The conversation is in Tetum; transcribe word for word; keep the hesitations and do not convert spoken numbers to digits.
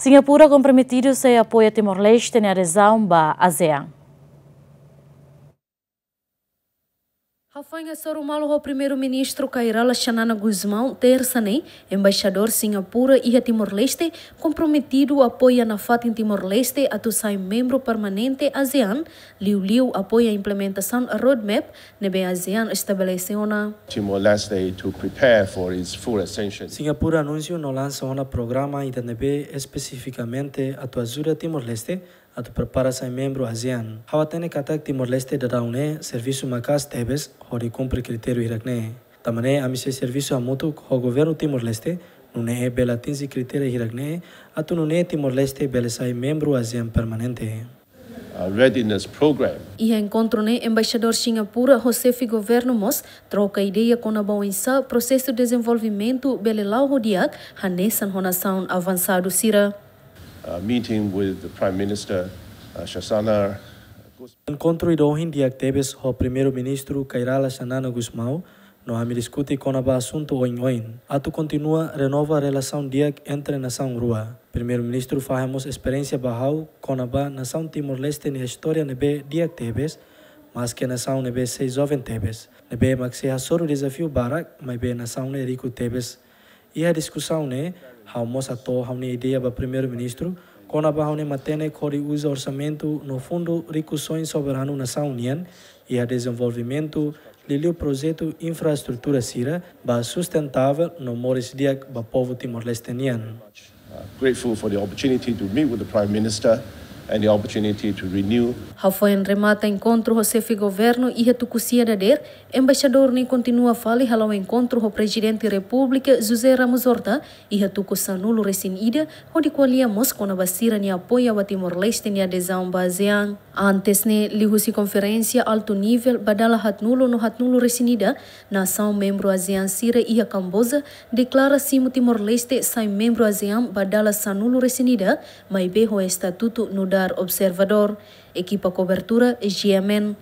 Singapura komprometidu sei apoia Timor-Leste nia adezaun ba ASEAN. Hafoin hasoru malu ho Primeiru-Ministru Kay Rala Xanana Gusmão, tersa ne'e, Embaixadór Singapura iha Timor-Leste komprometidu apoia nafatin Timor-Leste atu sai membru permanente ASEAN, liuliu apoia implementasaun roadmap ne'ebé ASEAN estabelese ona. Timor-Leste to prepare for its full accession. Singapura anunsiu no lansa ona programa ida ne'ebé espesifikamente atu ajuda Timor-Leste atu prepara sai membru ASEAN. Ha'u hatene katak Timor-Leste daudaun ne'e servisu maka'as tebes hodi kumpre kritériu hirak-ne'e. Tanba ne'e ami sei servisu hamutuk ho governu Timor-Leste, nune'e bele atinje kritériu hirak-ne'e, atu nune'e Timor-Leste bele sai membru ASEAN permanente. Uh, readiness program. Iha enkontru ne'e, Embaixadór Singapura ho xefe governu mós troka ideia kona-ba oinsá prosesu dezenvolvimentu bele la'o ho di'ak hanesan ho nasaun avansadu sira. Uh, meeting with the Prime Minister, uh, Xanana Gus- Enkontru ida ohin di'ak tebes ho Primeiru-Ministru Kay Rala Xanana Gusmão, no ami diskute kona-ba asuntu oin-oin, atu kontinua renova relasaun di'ak entre nasaun rua. Primeiru-Ministru fahe mós esperiénsia ba ha'u kona-ba nasaun Timor-Leste nia istória ne'ebé di'ak tebes, maske nasaun ne'ebé sei joven tebes, ne'ebé mak sei hasoru dezafiu barak, maibé nasaun ne'e riku tebes. Iha diskusaun ne'e, ha'u mós hato'o ha'u-nia ideia ba Primeiru-Ministru kona-ba ha'u-nia matenek hodi uza orsamentu no fundu rikusoin soberanu nasaun nian iha dezenvolvimentu, liuliu projetu infraestrutura sira ba sustentável no moris di'ak ba povu Timor-Leste nian. Uh, grateful for the opportunity to meet with the Prime Minister and the opportunity to renew. Hafoin remata enkontru ho xefe governu iha tuku sia dadeer, embaixadór ne'e kontinua fali hala'o enkontru ho Prezidente Repúblika José Ramos Horta iha tuku sanulu-resin-ida, hodi ko'alia mós kona-ba sira-nia apoiu ba Timor-Leste nia adezaun ba ASEAN. Antes ne'e, liuhusi konferénsia altu nivel ba dala haatnulu no haatnulu-resin-ida, nasaun membru ASEAN sira iha Kamboja deklara simu Timor-Leste sai membru ASEAN ba dala sanulu-resin-ida, maibé ho estatutu nu'udar observadór. Ekipa kobertura, G M N.